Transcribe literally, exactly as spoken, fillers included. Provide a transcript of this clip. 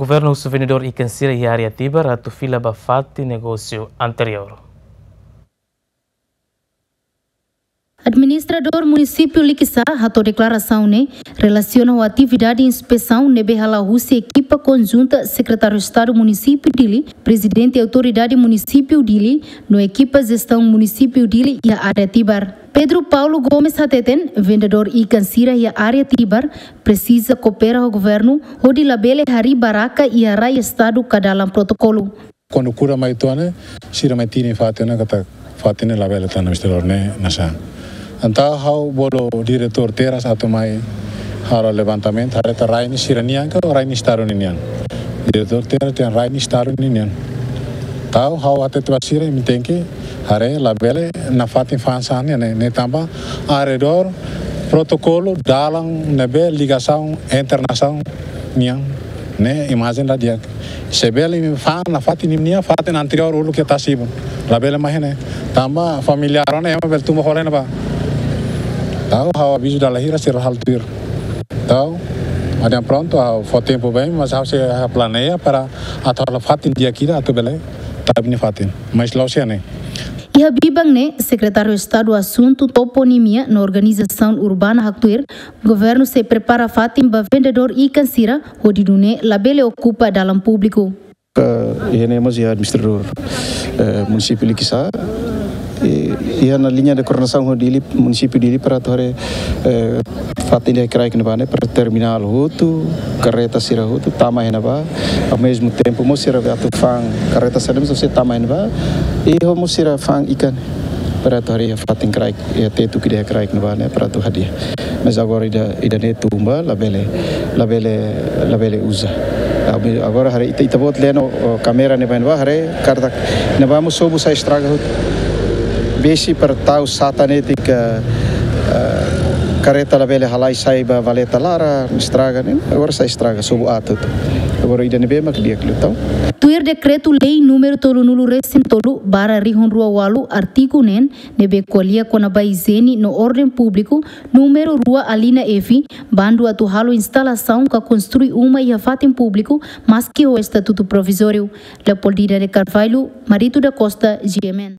Governu husu vendedór ikan sira iha área Tibar atu fila ba fatin negósiu anteriór. Administradór Munisípiu Likisá hato'o deklarasaun ne'e relasiona ho atividade inspesaun ne'ebé hala'o husi ekipa konjunta Sekretáriu Estadu Munisípiu Dili, Prezidente Autoridade Munisípiu Dili, no ekipa jestaun Munisípiu Dili iha área Tibar. Pedro Paulo Gomes hateten, vendedór ikan sira iha área Tibar presiza koopera ho governu hodi labele harii barraka iha rai Estadu ka dalan protokolu. Kuandu kura mai to'o ne'e, sira mai tini fatin ne'e katak fatin ne'e labele tan, Mister Lord, ne'e nasaun. Entaun ha'u bolu diretór Terras atu mai halo levantamentu, haree ita rai ne'e sira-nian ka rai ne'e Estadu ninian. Diretór Terras dehan rai ne'e Estadu ninian. Entaun ha'u hatete ba sira, imi tenke haree labele nafatin fa'an sira-nian ne'e, ne'e tanba arredór protokolu dalan ne'ebé ligasaun entre nasaun nian ne'e imajen la di'ak. Se bele imi fa'an nafatin imi-nian, fatin anteriór uluk iha Tasibun. Labele mai iha ne'e. Tanba familiár ona ema bele tun ba hola iha ne'ebá. Entaun ha'u avizu dala hira sira halo tuir. Entaun, adehan prontu, ha'u fó tempu ba imi, mas ha'u sei planeia para atu halo fatin di'ak ida atu bele tau imi-nia fatin. Mas la'ós iha ne'e. Iha biban ne'e, Sekretáriu Estadu Asuntu Toponimia no Organizasaun Urbana haktuir, governu sei prepara fatin ba vendedór ikan sira, hodi nune'e labele okupa dalan públiku. Eh, iha ne'e mós iha administradór, eh, Munisípiu Likisá, eh, iha ona liña de koordenasaun ho Dili, Munisípiu Dili para atu haree, eh, fatin ida kraik ne'ebá ne'e para terminál hotu, karreta sira hotu tama iha ne'ebá. Ao mesmo tempo mós sira atu fa'an karreta sira mós sei tama iha ne'ebá. I ho mós sira fa'an ikan para atu haree fatin kraik, iha tetu ida kraik ne'ebá ne'e para atu hadi'a. Mas agora ida, ida-ne'e tun ba, labele, labele, labele uza. Agora haree ita, ita-boot leno, o, kámera ne'ebá, ne'ebá haree katak ne'ebá mós sobu sai estraga hotu. Besik para tau sata netik, eh, karreta labele halai sai ba valeta laran, estraga ne'e, agora sai estraga, sobu aat hotu. Agora ida ne'ebé mak di'ak liután. Tuir dekretu-lei númeru tolunulu resin tolu barra rihun rua ualu, artigu neen, ne'ebé ko'alia kona-ba ijiene no orden públiku, númeru rua alínea F, bandu atu halo instalasaun ka konstrui uma iha fatin públiku, maski ho estatutu provizóriu. Leopoldina de Carvalho, Marito da Costa, G M N.